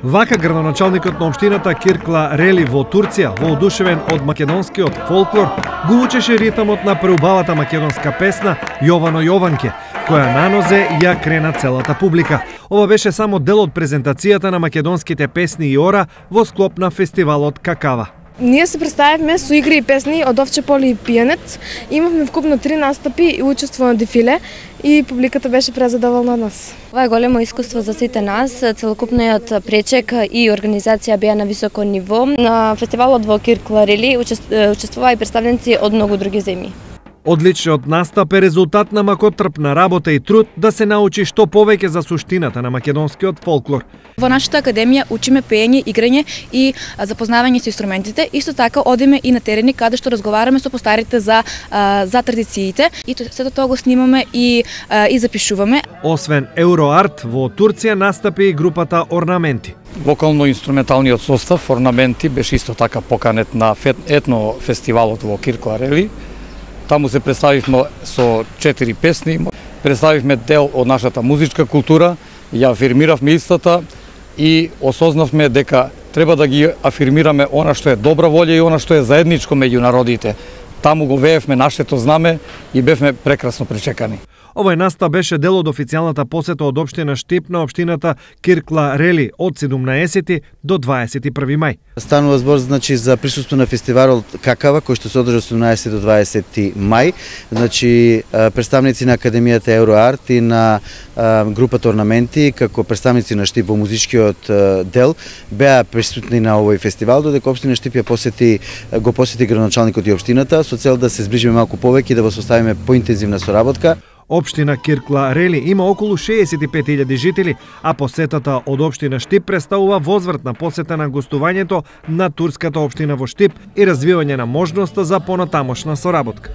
Вака градоначалникот на општината Киркла Рели во Турција, воодушевен од македонскиот фолклор, го учеше ритмот на преубавата македонска песна Јовано Јованке, која на нозе ја крена целата публика. Ова беше само дел од презентацијата на македонските песни и ора во склоп на фестивалот Какава. Ние се представивме со игри и песни од Овче поле и пијанец. Имавме вкупно 3 настапи и учество на дефиле и публиката беше презадоволна од нас. Ова е големо искуство за сите нас. Целокупниот пречек и организација беа на високо ниво. На фестивалот во Киркла Рели учествуваа и представници од многу други земји. Одличниот настап е резултат на макотрпна работа и труд да се научи што повеќе за суштината на македонскиот фолклор. Во нашата академија учиме пеење, играње и запознавање со инструментите. Исто така одиме и на терени каде што разговараме со постарите за традициите и сето тоа го снимаме и запишуваме. Освен Euroart, во Турција настапи и групата Орнаменти. Вокално-инструменталниот состав Орнаменти беше исто така поканет на етно фестивалот во Киркла Рели. Таму се представивме со 4 песни, представивме дел од нашата музичка култура, ја афирмиравме истата и осознавме дека треба да ги афирмираме она што е добра волја и она што е заедничко меѓу народите. Таму го веевме нашето знаме и бевме прекрасно пречекани. Овој настап беше дел од официјалната посета од општина Штип на општината Киркла Рели од 17 до 21 мај. Станува збор за присуство на фестивалот Какава кој што се одржа од 18 до 20 мај. Представници на академијата Euroart и на групата Орнаменти како представници на Штип во музичкиот дел беа присутни на овој фестивал, додека општина Штип го посети градоначалникот и општината со цел да се зближиме малку повеќе и да воспоставиме поинтензивна соработка. Општина Киркла Рели има околу 65.000 жители, а посетата од општина Штип представува возвратна посета на гостувањето на турската општина во Штип и развивање на можноста за понатамошна соработка.